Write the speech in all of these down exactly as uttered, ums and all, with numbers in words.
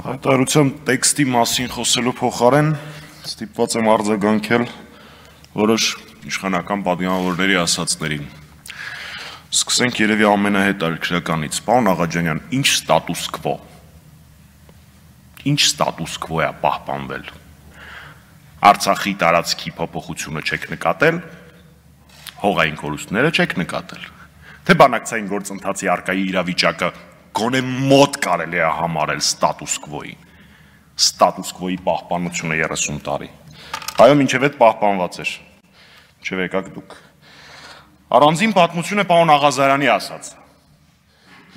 Հայտարարության տեքստի մասին խոսելու փոխարեն ստիպված եմ արձագանքել որոշ իշխանական պատգամավորների ասածներին։ Սկսենք երևի ամենահետաքրքրականից։ Պարոն Աղաջանյան, ինչ ստատուս քվո։ Ինչ ստատուս քվո է պահպանվել։ Արցախի տարածքի փոփոխությունը չեք նկատել, հողային կորուստները չեք նկատել։ Թե բանակցային գործընթացի արկայի իրավիճակը գոնե մոտ կարելի է համարել ստատուս քվոյի։ Ստատուս քվոյի պահպանությունը երեսուն տարի։ Այո, մինչև այդ պահպանված էր։ Մինչև եկաք դուք։ Առանձին պատմություն է պարոն Աղազարյանի ասած։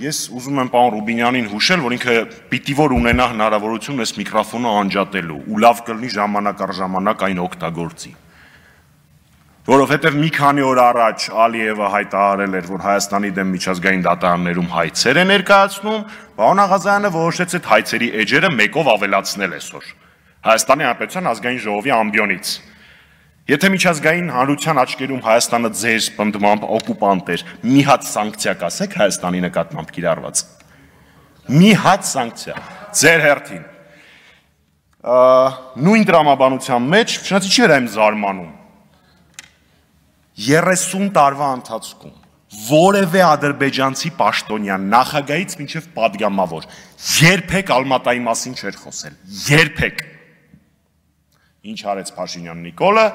Ես ուզում եմ պարոն Ռուբինյանին հուշել, որ ինքը պիտի որ ունենա հնարավորություն այս միկրոֆոնը անջատելու ու լավ կլինի ժամանակ առ ժամանակ այն օգտագործի։ Որովհետև մի քանի օր առաջ Ալիևը հայտարարել էր, որ Հայաստանի դեմ միջազգային դատարաններում հայցեր է ներկայացնում, պարոն Աղազարյանը որոշեց այդ հայցերի էջերը մեկով ավելացնել այսօր Հայաստանի Հանրապետության ազգային ժողովի ամբիոնից։ Եթե միջազգային հանրության աչքերում Հայաստանը ձեր պնդմամբ օկուպանտ էր, մի հատ սանկցիա կասեք Հայաստանի նկատմամբ կիրառված։ Մի հատ սանկցիա, ձեր հերթին։ Նույն տրամաբանության մեջ, չնայած չի վրա եմ զարմանում, երեսուն տարվա ընթացքում որևէ ադրբեջանցի պաշտոնյան նախագահից մինչև պատգամավոր երբեք Ալմատայի մասին չէր խոսել, երբեք։ Ինչ արեց Փաշինյան Նիկոլը,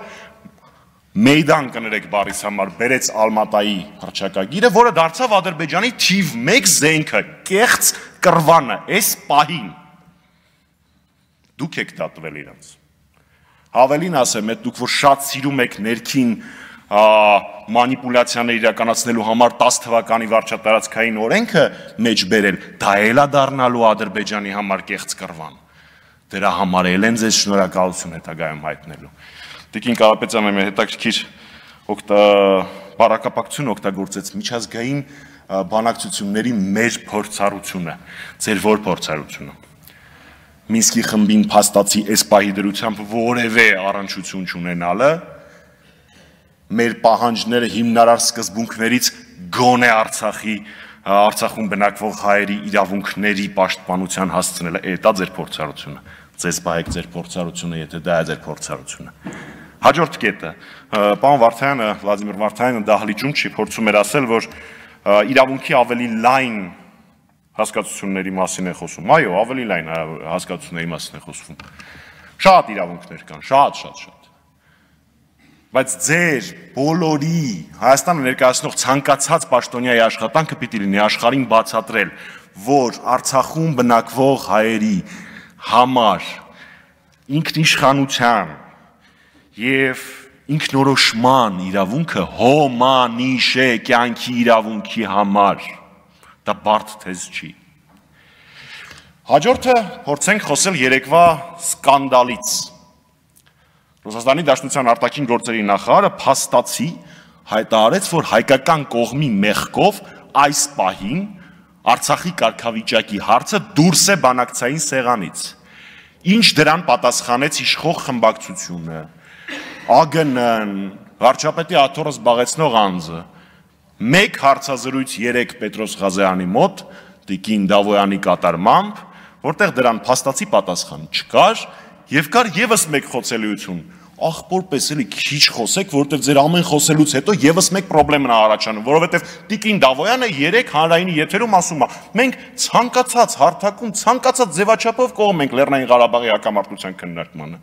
մեյդան կներեք բառիս համար բերեց Ալմատայի հռչակագիրը, որը դարձավ Ադրբեջանի թիվ մեկ զենքը, կեղծ կռվանը, այս պահին։ Դուք եք դատվել իրանց։ Հավելին ասեմ, այդ դուք որ շատ սիրում եք ներքին մանիպուլյացիաներ իրականացնելու համար տաս թվականի վարչատարածքային օրենքը մեջ բերել, դա էլ է դառնալու Ադրբեջանի համար կեղծ կռվան։ Դրա համար էլ են ձեզ շնորհակալություն հետագայում հայտնելու։ Տիկին Կարապետյանը մեր հետաքրքիր բառակապակցություն օգտագործեց միջազգային բանակցությունների մեր փորձառությունը, ձեր որ փորձառությունը։ Մինսկի խմբին փաստացի այս պահի դրությամբ որևէ առնչություն չունենալը, մեր պահանջները հիմնարար սկզբունքներից գոնե Արցախի Արցախում բնակվող հայերի իրավունքների պաշտպանության հասցնելը, դա ձեր փորձառությունը։ Ձեզ բայեք ձեր փորձառությունը, եթե դա է ձեր փորձառությունը։ Հաջորդ կետը, պարոն Վարդանյանը, Վլադիմիր Վարդանյանը դահլիճում չի փորձում էր ասել, որ իրավունքի ավելի լայն հասկացությունների մասին է խոսում։ Այո, ավելի լայն հասկացությունների մասին է խոսում։ Շատ իրավունքներ կան, շատ, շատ, շատ։ Բայց ձեր բոլորի Հայաստանը ներկայացնող ցանկացած պաշտոնյայի աշխատանքը պիտի լինի աշխարհին բացատրել, որ Արցախում բնակվող հայերի համար ինքնիշխանության եւ ինքնորոշման իրավունքը հոմանիշ է կյանքի իրավունքի համար։ Դա բարդ թեզ չի։ Հաջորդը փորձենք խոսել երեկվա սկանդալից։ Ռուսաստանի Դաշնության արտաքին գործերի նախարարը փաստացի հայտարարեց, որ հայկական կողմի մեղքով այս պահին Արցախի կարգավիճակի հարցը դուրս է բանակցային սեղանից։ Ինչ դրան պատասխանեց իշխող խմբակցությունը, ԱԳՆ-ն, վարչապետի աթոռը զբաղեցնող անձը։ Մեկ հարցազրույց երեք Պետրոս Ղազարյանի մոտ, տիկին Դավոյանի կատարմամբ, որտեղ դրան փաստացի պատասխան չկար, եւ կար եւս մեկ խոցելիություն։ Ախպոր պես էլի քիչ խոսեք, որովհետեւ ձեր ամեն խոսելուց հետո եւս մեկ խնդրեմ է առաջանում, որովհետեւ տիկին Դավոյանը երեք հանրայինի եթերում ասում է. մենք ցանկացած հարթակում, ցանկացած ձևաչափով կողմ ենք Լեռնային Ղարաբաղի հակամարտության քննարկմանը։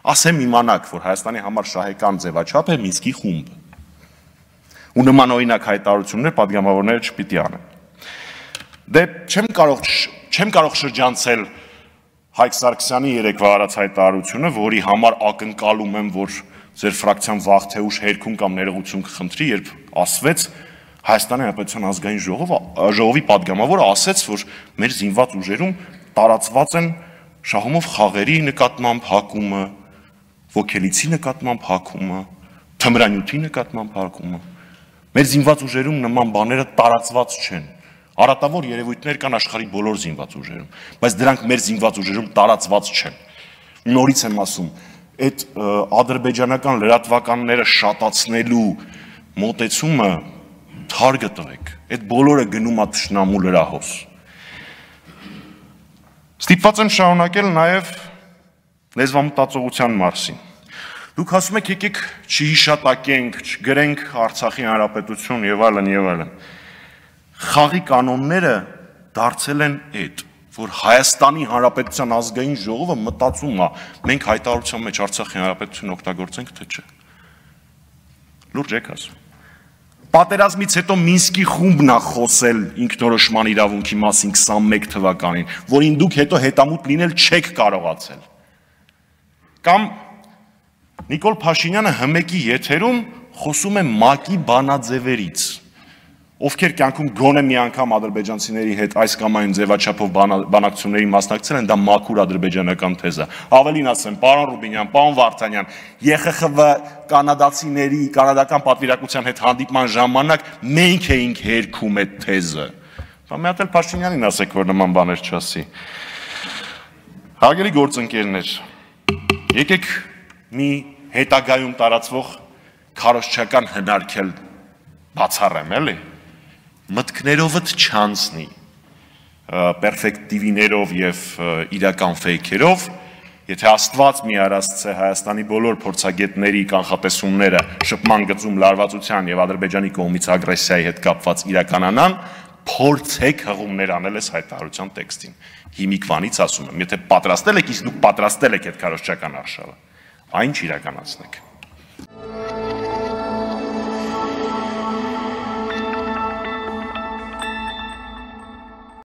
Ասեմ իմանաք, որ Հայաստանի համար շահեկան ձևաչափ է Մինսկի խումբը։ Ու նման օրինակ հայտարարություններ պատգամավորները չպիտի անեն։ Դե չեմ կարող չեմ կարող շրջանցել Հայկ Սարգսյանի երեկվա արած հայտարարությունը, որի համար ակնկալում եմ, որ ձեր ֆրակցիան վաղ թե ուշ հերքում կամ ներողություն կխնդրի, երբ ասվեց Հայաստանի Հանրապետության ազգային ժողովի պատգամավորը ասեց, որ մեր զինված ուժերում տարածված են շահումով խաղերի նկատմամբ հակումը, ոգելիցի նկատմամբ հակումը, թմրանյութի նկատմամբ հակումը։ Մեր զինված ուժերում նման բաները տարածված չեն։ Արատավոր երևույթներ կան աշխարհի բոլոր զինված ուժերում, բայց դրանք մեր զինված ուժերում տարածված չեն։ Նորից եմ ասում, այդ ադրբեջանական լրատվականները շատացնելու մոտեցումը թարգ տվեք, այդ բոլորը գնում է թշնամու լրահոս։ Ստիպված եմ շարունակել նաև լեզվամտածողության մասին։ Դուք ասում եք եկեք չհիշատակենք, չգրենք Արցախի հանրապետություն եւ այլն եւ այլն։ Խաղի կանոնները դարձել են այդ, որ Հայաստանի Հանրապետության ազգային ժողովը մտածում է, մենք հայտարարության մեջ Արցախի հանրապետություն օգտագործենք թե չէ։ Լուրջ եք ասում։ Պատերազմից հետո Մինսկի խումբն է խոսել ինքնորոշման իրավունքի մասին քսանմեկ թվականին, որին դուք հետո հետամուտ լինել չեք կարողացել։ Կամ Նիկոլ Փաշինյանը հմեկի եթերում խոսում է ՄԱԿ-ի բանաձևերից, ովքեր կյանքում գոնե մի անգամ ադրբեջանցիների հետ այս կամ այն ձևաչափով բանակցությունների մասնակցել են, դա մաքուր ադրբեջանական թեզ է։ Ավելին ասեմ, պարոն Ռուբինյան, պարոն Վարդանյան, ԵԽԽՎ կանադացիների, կանադական պատվիրակության հետ հանդիպման ժամանակ մենք էինք հերքում այդ թեզը։ Բա մի հատ էլ Փաշինյանին ասեք, որ նման բաներ չասի։ Հարգելի գործընկերներ, եկեք մի հետագայում տարածվող քարոզչական հնարքել բացառեմ, էլի։ Մտքներովդ չանցնի, պերֆեկտիվիներով և իրական ֆեյքերով, եթե Աստված մի արասցե Հայաստանի բոլոր փորձագետների կանխատեսումները շփման գծում լարվածության և Ադրբեջանի կողմից ագրեսիայի հետ կապված իրականանան, փորձեք հղումներ անել այս հայտարարության տեքստին։ Հիմիկվանից ասում եմ, եթե պատրաստել եք, իսկ դուք պատրաստել եք այդ քարոզչական արշավը, այն չիրականացնեք։